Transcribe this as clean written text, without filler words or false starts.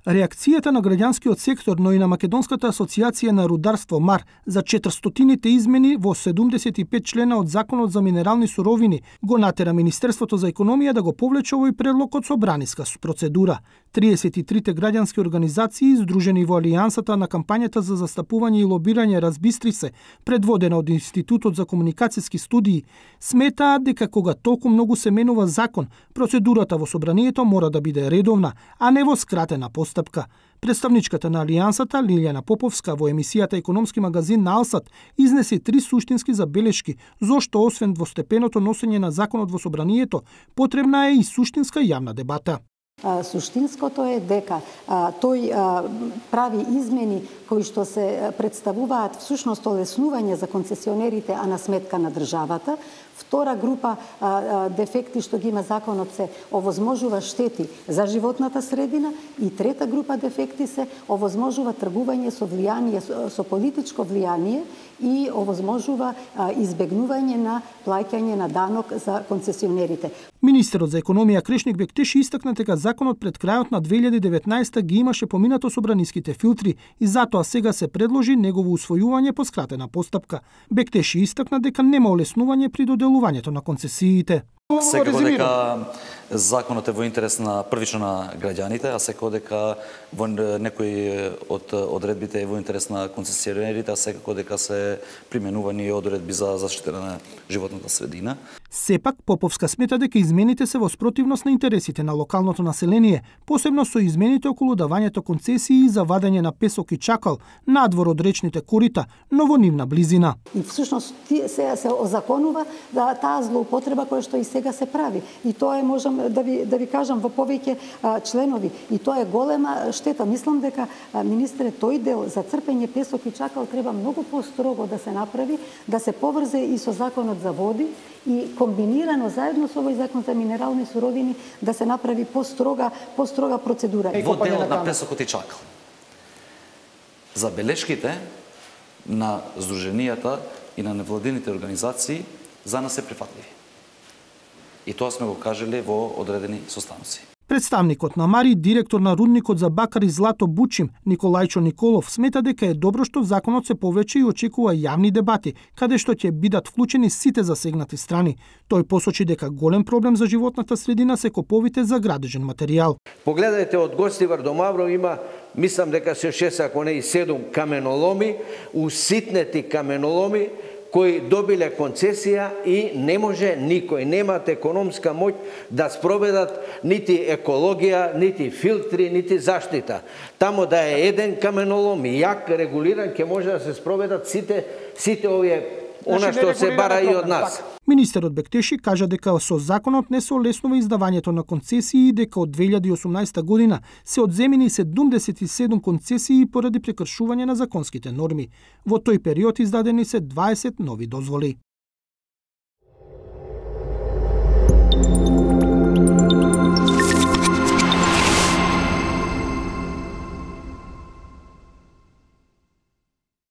Реакцијата на граѓанскиот сектор, но и на Македонската асоциација на рударство МАР за 400-тите измени во 75 члена од Законот за минерални суровини го натера Министерството за економија да го повлече овој предлог од собраниска процедура. 33 граѓански организации издружени во Алијансата на кампањата за застапување и лобирање Разбистри се, предводена од Институтот за комуникацијски студии, сметаат дека кога толку многу се менува закон, процедурата во собранието мора да биде редовна, а не во скратена постапка. Представничката на Алијансата, Лилјана Поповска, во емисијата Економски магазин на Алсат, изнесе 3 суштински забелешки, зошто освен двостепеното носење на законот во собранието, потребна е и суштинска јавна дебата. Суштинското е дека тој прави измени кои што се представуваат всушност олеснување за концесионерите, а на сметка на државата. Втора група дефекти што ги има законот се овозможува штети за животната средина и трета група дефекти се овозможува тргување со влијание, со политичко влијание и овозможува избегнување на плаќање на данок за концесионерите. Министерот за економија Крешник Бектеши истакна дека законот пред крајот на 2019 ги имаше поминато собраниските филтри и затоа сега се предложи негово усвојување по скратена постапка. Бектеши истакна дека нема олеснување при доделувањето на концесиите. Секако дека законот е во интерес на првично на граѓаните, а секако дека во некои од одредбите е во интерес на концесионерите, а секако дека се применувани одредби за заштита на животната средина. Сепак Поповска смета дека измените се во спротивност на интересите на локалното население, посебно со измените околу давањето концесии за вадење на песок и чакал надвор од речните корита, но во нивна близина. И всушност се озаконува таа злоупотреба која што и сега се прави. И тоа е, можам да ви кажам, во повеќе членови. И тоа е голема штета. Мислам дека, министре, тој дел за црпење песок и чакал треба многу построго да се направи, да се поврзе и со законот за води и комбинирано заедно со овој закон за минерални суровини да се направи построга процедура. Во делот на песокот и чакал. Забелешките на здруженијата и на невладините организации за нас се прифатливи. И тоа сме го кажали во одредени состаноци. Представникот на МАР и директор на рудникот за бакар и злато Бучим, Николајчо Николов, смета дека е добро што законот се повлече и очекува јавни дебати, каде што ќе бидат вклучени сите засегнати страни. Тој посочи дека голем проблем за животната средина се коповите за градежен материјал. Погледајте, од Гостивар до Мавро има, мислам дека се 6, ако не и 7 каменоломи, уситнети каменоломи, кои добиле концесија и не може никој, немат економска моќ да спроведат нити екологија, нити филтри, нити заштита. Тамо да е еден каменолом, јак регулиран, ќе може да се спроведат сите овие она што се бара и од нас. Министерот Бектеши кажа дека со законот не се олеснува издавањето на концесии и дека од 2018 година се одземени 77 концесии поради прекршување на законските норми. Во тој период издадени се 20 нови дозволи.